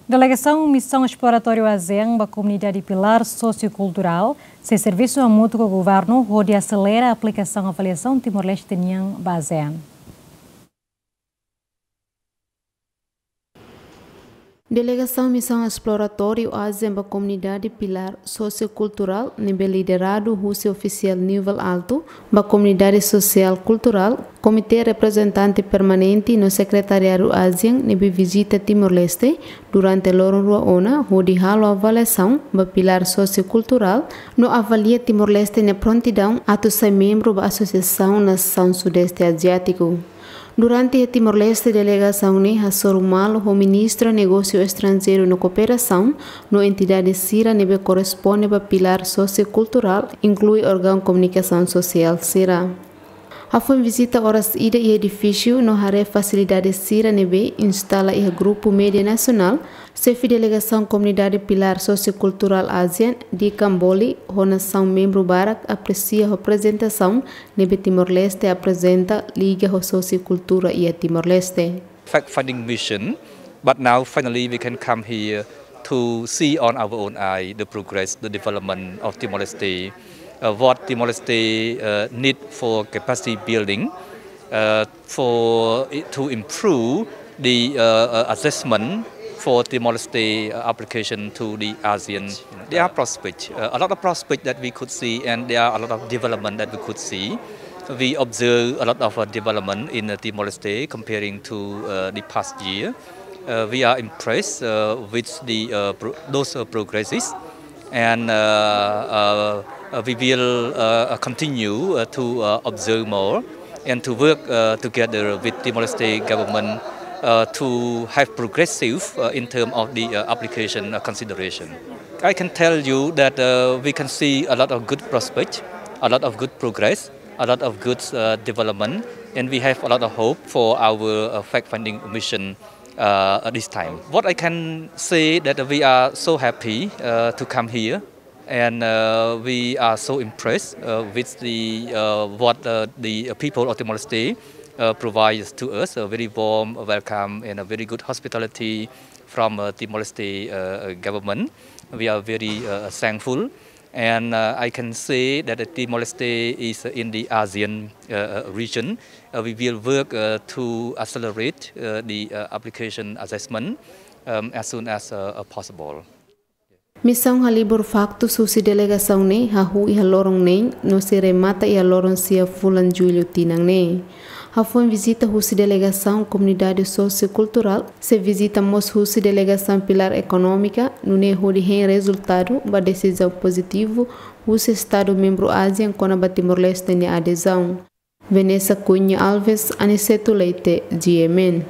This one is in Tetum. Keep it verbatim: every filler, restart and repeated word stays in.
Delegasaun Misaun Esploratóriu ASEAN ba Komunidade Pilár Sosiokulturál sei servisu hamutuk ho governu hodi aselera aplikasaun avaliasaun Timor-Leste nian ba ASEAN. Delegasaun Misaun Esploratóriu ASEAN ba Komunidade Pilár Sosiokulturál, ne'ebé lideradu husi ofisiál nivel altu ba komunidade sosiál kulturál, Komité Reprezentante Permanente no Sekretariadu ASEAN ne'ebé vizita Timor-Leste durante loron rua ona, hodi halo avaliasaun ba pilár sosiokulturál no avalia Timor-Leste nia prontidaun atu sai membru ba Asosiasaun Nasaun Sudeste Aziátiku. Durante iha Timor-Leste, delegasaun ne'e hasoru malu ho Ministra Negósiu Estranjeiru no Kooperasaun no entidade sira ne'ebé korresponde ba pilár sosiokulturál, inklui órgaun komunikasaun sosiál sira. Hafoin vizita oras ida iha edifísiu no haree fasilidade sira ne'ebé instala iha grupu média nasionál, Xefe Delegasaun Komunidade Pilár Sosiokulturál ASEAN, Dikan Boli, ho nasaun membru barak apresia ho aprezentasaun ne'ebé Timor-Leste aprezenta liga ho sosiokultura iha Timor-Leste. Fact-finding mission, but now finally we can come here to see on our own eye the progress, the development of Timor-Leste, uh, what Timor-Leste, uh, need for capacity building, uh, for it to improve the, uh, uh, assessment for Timor-Leste, uh, application to the ASEAN. There are prospects, uh, a lot of prospects that we could see, and there are a lot of development that we could see. We observe a lot of, uh, development in, uh, Timor-Leste comparing to, uh, the past year. Uh, we are impressed, uh, with the, uh, pro-, those, uh, progresses, and, uh, uh, uh, we will, uh, uh, continue, uh, to, uh, observe more and to work, uh, together with Timor-Leste government, uh, to have progressive, uh, in term of the, uh, application, uh, consideration. I can tell you that, uh, we can see a lot of good prospect, a lot of good progress, a lot of good, uh, development, and we have a lot of hope for our, uh, fact-finding mission, uh, at this time. What I can say that we are so happy, uh, to come here, and, uh, we are so impressed, uh, with the, uh, what, uh, the people of Timor-Leste, uh, provides to us, a very warm welcome and a very good hospitality from, uh, Timor-Leste, uh, government. We are very, uh, thankful. And, uh, I can say that, uh, Timor-Leste is in the ASEAN, uh, uh, region. Uh, we will work, uh, to accelerate, uh, the, uh, application assessment, um, as soon as, uh, uh, possible. Misaun halibur faktus husi delegasaun ne'e hahú iha loron neen no sei remata iha loron sia fulan Jullu tinan ne'e. Hafoin vizita husi delegasaun komunidade sosiokulturál, sei vizita mós husi delegasaun pilár ekonómika, nune'e hodi hein rezultadu ba desizaun pozitivu husi Estadu membru ASEAN kona-ba Timor-Leste nia adezaun. Vanessa Cunha Alves, Aniceto Leite, G M N.